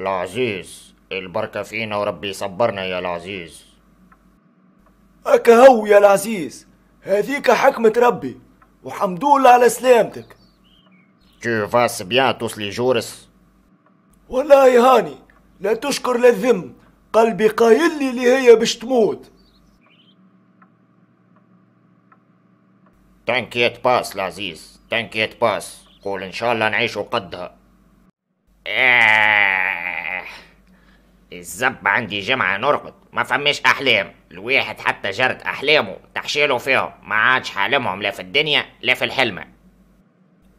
العزيز البركة فينا وربي يصبرنا يا العزيز. هكا هو يا العزيز، هذيك حكمة ربي وحمد لله على سلامتك. Tu vas bien tous les jours؟ والله هاني لا تشكر لا تذم، قلبي قايل لي اللي هي باش تموت. T'inquiète pas العزيز، t'inquiète pas، قول ان شاء الله نعيشوا قدها. الزب عندي جمعة نرقد، ما فماش احلام، الواحد حتى جرد احلامه تحشيله فيهم، ما عادش حالمهم لا في الدنيا لا في الحلمة.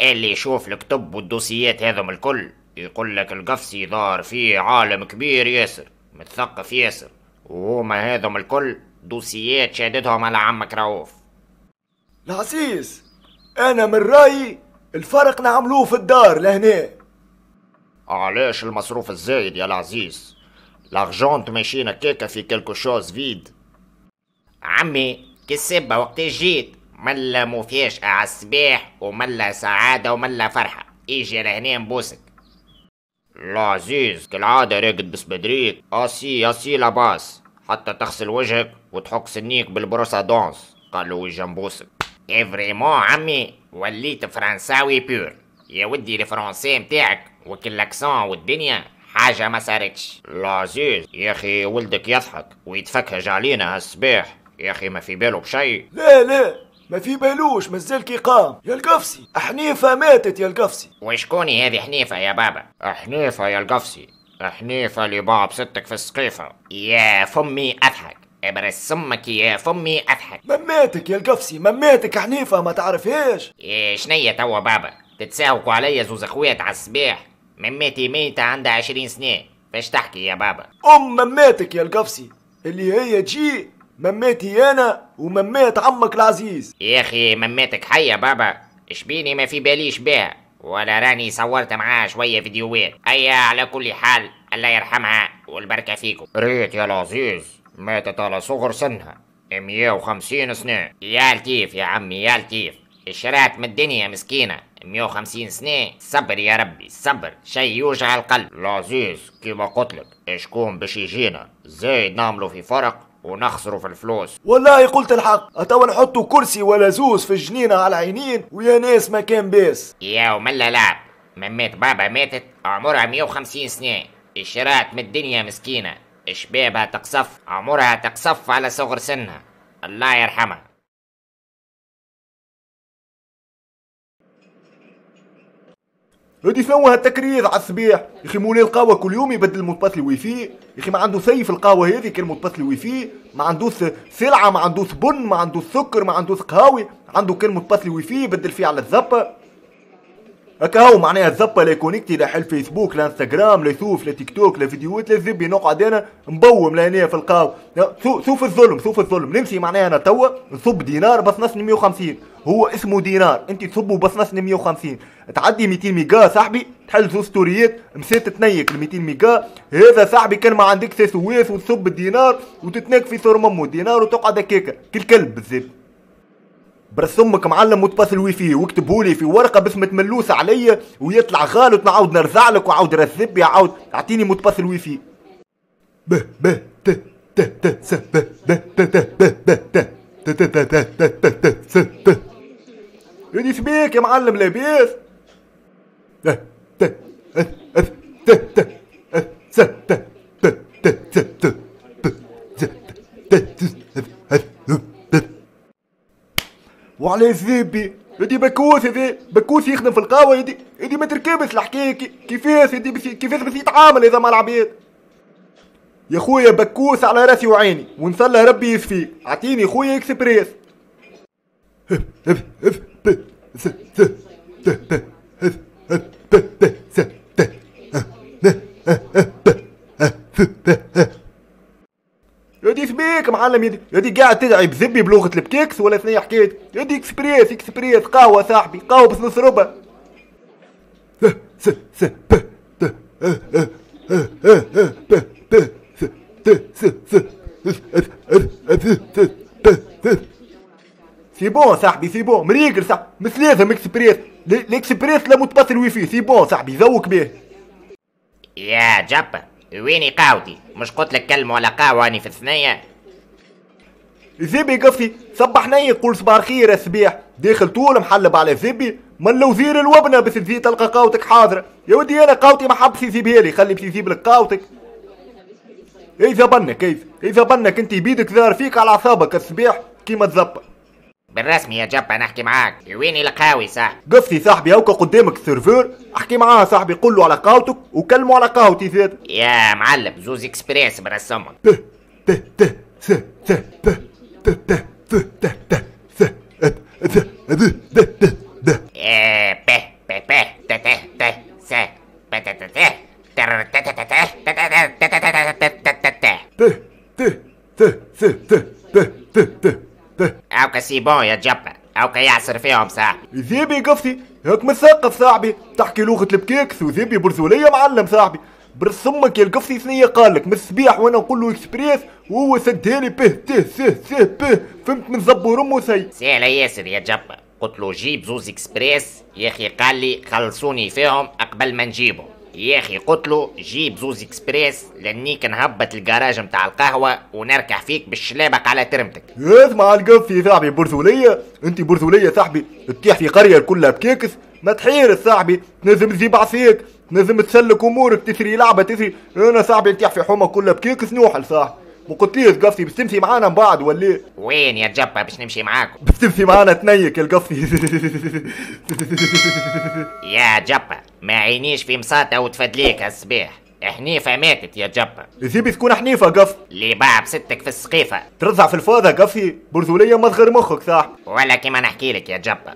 اللي يشوف الكتب والدوسيات هذم الكل يقول لك القفصي ظهر فيه عالم كبير ياسر، متثقف ياسر، وهما هذم الكل دوسيات شاددهم على عمك رؤوف. العزيز انا من رايي الفرق نعملوه في الدار لهنا. علاش المصروف الزايد يا العزيز؟ l'argent ماشينا كيكة في quelque chose vide. عمي كالسبة وقت جيت ملا مفاجأة على الصباح وملا سعادة وملا فرحة، اجي لهنا نبوسك. العزيز كالعادة راقد بسبدريك، assis assis لاباس، حتى تغسل وجهك وتحك سنيك بال brosse à dents، قالوا يجي نبوسك. vraiment عمي وليت فرنساوي pur يا ودي، ال français متاعك وكل l'accent والدنيا حاجة ما صارتش. العزيز يا اخي ولدك يضحك ويتفكهج علينا هالصباح، يا اخي ما في باله بشيء. لا لا ما في بالوش، مازال كي قام يا القفصي. حنيفة ماتت يا القفصي. وشكوني هذه حنيفة يا بابا؟ حنيفة يا القفصي، حنيفة اللي باع بستك في السقيفة. يا فمي اضحك، ابرز سمك يا فمي اضحك. مماتك يا القفصي، مماتك حنيفة ما تعرفهاش. إيه شنية توا بابا؟ تتساوكوا عليا زوز اخوات على الصباح، مماتي ميتة عندها 20 سنة، فاش تحكي يا بابا؟ ام مماتك يا القفصي اللي هي تجي مماتي انا وممات عمك العزيز. يا اخي مماتك حية بابا، اشبيني ما في باليش بها، ولا راني صورت معاها شوية فيديوهات. ايا على كل حال الله يرحمها والبركة فيكم. ريت يا العزيز ماتت على صغر سنها 150 سنة. يا لطيف يا عمي يا لطيف، اشرات من الدنيا مسكينة 150 سنة. صبر يا ربي صبر، شي يوجع القلب. العزيز كيما قلتلك اشكون باش يجينا زايد نعملو في فرق ونخسروا في الفلوس. والله قلت الحق، اتوا نحطوا كرسي ولا زوز في الجنينة على العينين ويا ناس ما كان باس. يا وملا لعب، ممات بابا ماتت عمرها 150 سنة، اشرات من الدنيا مسكينة، شبابها تقصف، عمرها تقصف على صغر سنها، الله يرحمها. هادي شنو هالتكريز على الصباح يا اخي؟ مولاي القهوة كل يوم يبدل mot de passe ال wifi، يا اخي ما عنده سيف القهوة هذه كان mot de passe ال wifi، ما عندوش سلعه، ما عندوش بن، ما عندوش سكر، ما عندوش قهاوي، عنده كان mot de passe ال wifi يبدل فيه على الزبه. هكا هو معناها الزبه لا connecté، لا حل فيسبوك لا انستغرام لا يشوف لا تيك توك لا فيديوهات لا زبي، نقعد انا مبوم لهنا في القهوة. شوف الظلم، شوف الظلم، نمشي معناها انا توا نصب دينار بس نصني 150، هو اسمه دينار، انت تصبه بس نصني 150، تعدي 200 ميجا صاحبي، تحل زوز ستوريات مسيت تنيك ال 200 ميجا، هذا صاحبي كان ما عندك سواس وتصب الدينار وتتناك في صور ممو الدينار وتقعد هكاكا كل كلب بالزبط. برس امك معلم mot de passe ال wifi واكتبهولي في ورقة باسم تملوس عليا ويطلع غالط نعاود نرزع لك وعاود رزبي عاود اعطيني mot de passe ال wifi. ب ب ت ت ت س ب ب ت ت ب ب ت ت ت ت ت ت ت ت س ت. يدي سبيك يا معلم لاباس؟ ت ت ت ت س ت ت ت ت ت ت ت ت. وعلى زبي يدي بكوس، هذا بكوس يخدم في القهوة، يدي ما تركبش الحكاية كيفاش يدي كيفاش باش يتعامل هذا مع العباد. يا خويا بكوس على راسي وعيني ونصلى ربي يشفيك، اعطيني خويا اكسبريس. ب س ت ت ت ب ب س ت ن ب ف ب. يدي سبيك معلم، يدي قاعد تدعي بزبي بلغة البكيكس ولا ثنية حكاية. يدي اكسبريس اكسبريس قهوة صاحبي، قهوة بس نص ربع. س س ب ت ا ا ا ا ب ب س ت س س ا ت ب ت. c'est bon صاحبي، c'est bon مريقل صاحبي، مش لازم اكسبريس، الاكسبريس لا mot de passe ال wifi، c'est bon صاحبي ذوق به. يا جبا ويني قهوتي؟ مش قلت لك كلمة ولا قهوة اني في الثنية؟ زبي قفي صبح ني قول صباح الخير الصبيح، داخل طول محلب على زبي من لو زير الوبنه بس تزيد تلقى قهوتك حاضره. يا ودي انا قهوتي ما حبش يسيبها لي، خلي باش يسيب لك قهوتك. اذا بنك كيف اذا بنك انت بيدك ظهر فيك على اعصابك الصبيح كيما تزبط. بالرسمي يا جبا نحكي معاك، ويني القهاوي صاحبي؟ قفي صاحبي هوكا قدامك ال serveur، احكي معاه صاحبي، قول له على قهوتك وكلمه على قهوتي زاد. يا معلم زوز اكسبريس برسمك. ت ت ت س ت ت ت ت ت ت ت س ت د د د د. ب ب ب ت ت ت س ب ت ت ت تر ت ت ت ت ت ت ت ت ت ت ت ت ت س ت ت ت ت ت. اوكا c'est bon يا جبا، اوكا يعصر فيهم صاحبي. زيبي قفتي هاك مثقف صاحبي، تحكي لغة البكيكس وزيبي برزولية معلم صاحبي. برسمك يا القفصي ثنية قالك من الصبيح وانا نقول له اكسبريس وهو سدهالي به ت س س ب، فهمت من زبور امه سي. سهلة ياسر يا جبا، قلت له جيب زوز اكسبريس يا اخي، قال لي خلصوني فيهم قبل ما نجيبهم. يا اخي قلت له جيب زوز اكسبريس لانيك نهبط الجراج متاع القهوة ونركح فيك بالشلابق على ترمتك. اسمع القفصي صاحبي برزولية، انت برزولية صاحبي تطيح في قرية كلها بكيكس ما تحير صاحبي، تنزم تجيب عصيك، تنزم تسلك امورك، تسري لعبة تسري. انا صاحبي نطيح في حومة كلها بكيكس نوحل صاحبي. ما قلتليش قفصي باش تمشي معانا من بعد ولا؟ وين يا جبا باش نمشي معاكم؟ باش تمشي معانا تنيك القفصي. يا جبا ما عينيش في مساطة وتفدليك هالصباح، حنيفة ماتت يا جبا. زيبي تكون حنيفة قف اللي باع بستك في السقيفة ترزع في الفاضة قفصي برزولية ما تغير مخك صاحبي. ولا كيما نحكي لك يا جبا،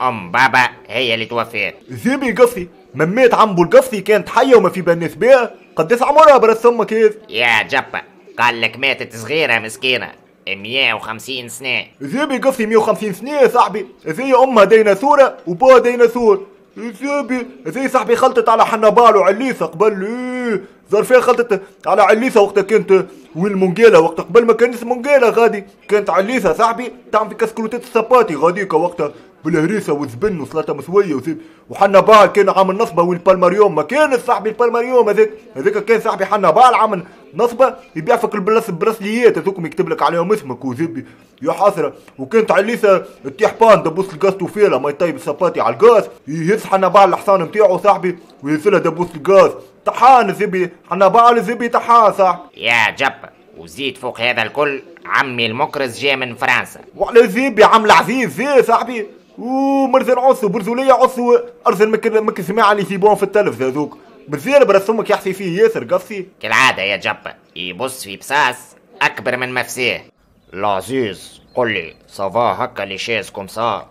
ام بابا هي اللي توفيت. زيبي قفصي ممات عمبو القفصي كانت حية وما في بالناس بيها، قداش عمرها برس امك هذا؟ يا جبا قال لك ماتت صغيرة مسكينة 150 سنة. زيبي قفصي 150 سنة يا صاحبي، زي امها ديناصورة وبوها ديناصور. زيبي زي صاحبي خلطت على حنبال وعليسة قبل، ايه ظرفية خلطت على عليسة وقتها كانت وين المونجيلا، وقت قبل ما كانت مونجيلا غادي كانت عليسة صاحبي تعمل في كسكروتات السباتي غاديكا وقتها بالهريسة والزبن وسلطة مسوية وزيب. وحنبال كان عامل نصبة والبالماريوم ما كان صاحبي البالماريوم هذاك كان صاحبي حنبال عامل نصبة يبيع فيك البراسليات هذوك يكتب لك عليهم اسمك وزبي يا حسرة. وكانت عليسة تطيح بان دبوس الغاز توفيلها ما يطيب السباتي على الغاز، يهز حنبال الحصان نتاعو صاحبي ويهزلها دبوس الغاز طحان زبي حنبال زبي طحان صاحبي. يا جبا وزيد فوق هذا الكل عمي المكرز جاي من فرنسا. وعلى زبي عم العزيز زي صاحبي ومرزن عصو برزولية عصو ارزن مك سماعة اللي يسيبوهم في التلفزة هذوك مزيان برس امك يحسي فيه ياسر قفصي. كالعادة يا جبا يبص في بصاص أكبر من مفسيه. العزيز قل لي ça va هكا les chaises comme ça؟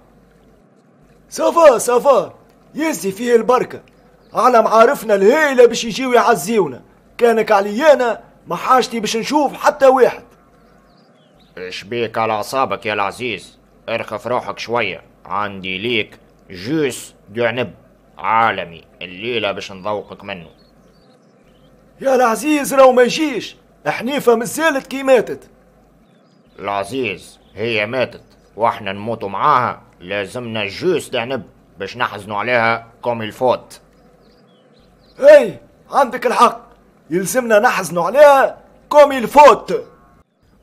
ça va ça va يزي فيه البركة، على معارفنا الهيلة باش يجيو يعزيونا، كانك عليانا ما حاجتي باش نشوف حتى واحد. اش بيك على أعصابك يا العزيز؟ ارخف روحك شوية، عندي ليك jus d'عنب عالمي الليلة باش نذوقك منه. يا العزيز راهو ما يجيش، حنيفة مازالت كي ماتت. العزيز هي ماتت واحنا نموتوا معاها، لازمنا jus d'عنب باش نحزنوا عليها comme il faut. اي عندك الحق، يلزمنا نحزنوا عليها comme il faut.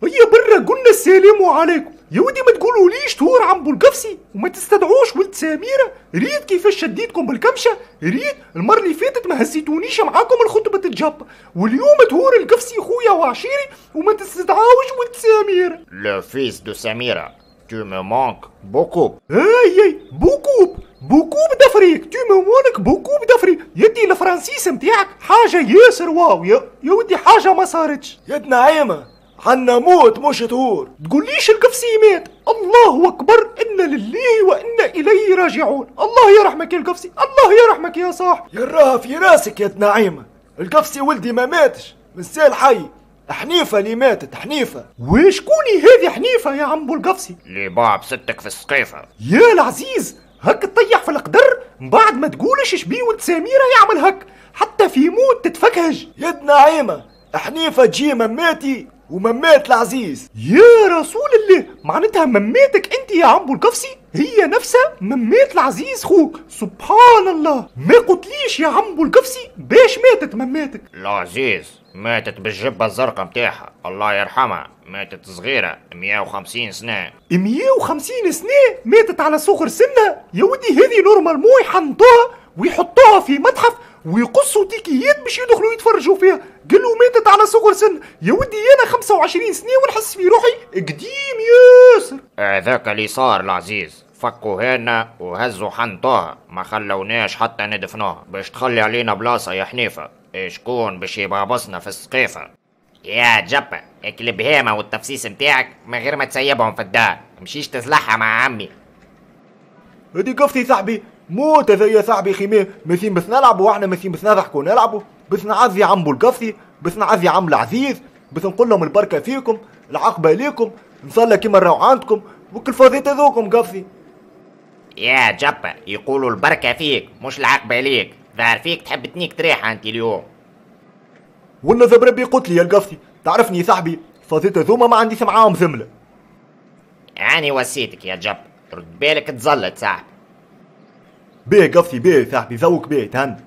هيا برا قلنا السلام عليكم يا ودي، ما تقولوليش طهور عمبو القفصي وما تستدعوش ولد سميرة. ريت كيفاش شديتكم بالكمشة، ريت المرة اللي فاتت ما هزيتونيش معاكم الخطبة الجبة، واليوم طهور القفصي خويا وعشيري وما تستدعوش ولد سميرة. le fils de سميرة tu me manques beaucoup. اي اي beaucoup beaucoup d'Afrique tu me manques beaucoup d'Afrique. يدي الفرنسيس نتاعك حاجة ياسر واو يا ودي، حاجة ما صارتش. يا نعيمة عنا موت مش طهور. تقوليش القفصي مات، الله اكبر، انا لله وانا اليه راجعون. الله يرحمك يا القفصي، الله يرحمك يا صاحبي. يراها في راسك يا نعيمة، القفصي ولدي ما ماتش، مازال حي، حنيفة اللي ماتت حنيفة. وشكوني هذه حنيفة يا عمبو القفصي؟ اللي باع بستك في السقيفة. يا العزيز هك تطيح في القدر من بعد ما تقولش شبيه ولد سميرة يعمل هك، حتى في موت تتفكهج. يا نعيمة حنيفة تجي مماتي وممات العزيز. يا رسول الله، معناتها مماتك انت يا عمبو القفصي هي نفسها ممات العزيز خوك. سبحان الله، ما قلتليش يا عمبو القفصي باش ماتت مماتك؟ العزيز ماتت بالجبة الزرقاء متاعها، الله يرحمها، ماتت صغيرة 150 سنة. 150 سنة ماتت على صغر سنها؟ يا ودي هذه normalement يحنطوها ويحطوها في متحف ويقصوا تيكيات باش يدخلوا يتفرجوا فيها. قالوا ماتت على صغر سن. يا ودي انا 25 سنة ونحس في روحي قديم ياسر. هذاك اللي صار العزيز، فكوا هنا وهزوا حنطوها، ما خلوناش حتى ندفنوها، باش تخلي علينا بلاصة يا حنيفة، شكون باش يبابصنا في السقيفة؟ يا جبة اكلب هامة والتفسيس متاعك من غير ما تسيبهم في الدار، مشيش تزلحها مع عمي. هدي قفتي صاحبي، موت هذا يا صاحبي. خيمة ماشيين بس نلعبوا، واحنا ماشيين بس نضحكوا نلعبوا، بس نعزي عمبو القفصي، بس نعزي عم العزيز، بس نقول لهم البركة فيكم، العقبة ليكم، نصلى كيما نراو عندكم، وكل فاضيت هذوكم قفصي. يا جبة يقولوا البركة فيك مش العقبة ليك، ظهر فيك تحب تنيك تريحة انت اليوم. ولا ذا بربي قلت لي يا القفصي، تعرفني يا صاحبي فاضيت هذوما ما عنديش معاهم زملة. يعني وسيتك يا جب، رد بالك تزلط صاحبي. بيه قفصي بيه صاحبي، ذوق بيه تهن.